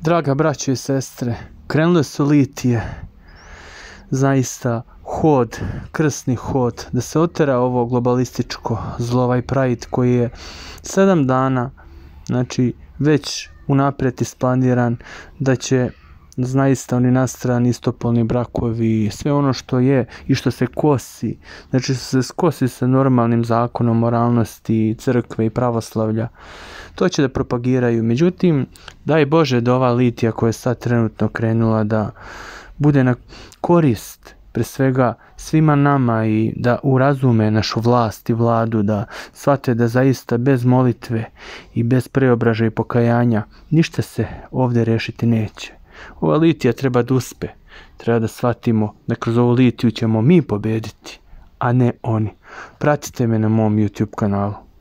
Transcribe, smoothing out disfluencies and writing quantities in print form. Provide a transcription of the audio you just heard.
Draga braćo i sestre, krenule su litije, zaista hod, krsni hod, da se otera ovo globalističko zlo, ovaj Pride koji je 7 dana, znači već unaprijed isplaniran, da će zaista oni nastrani istopolni brakovi, sve ono što je i što se kosi, znači što se kosi sa normalnim zakonom moralnosti, crkve i pravoslavlja, to će da propagiraju. Međutim, daj Bože da ova litija koja je sad trenutno krenula da bude na korist pre svega svima nama i da urazume našu vlast i vladu, da shvate da zaista bez molitve i bez preobražaja i pokajanja ništa se ovdje rešiti neće. Ova litija treba da uspe, treba da shvatimo da kroz ovu litiju ćemo mi pobediti, a ne oni. Pratite me na mom YouTube kanalu.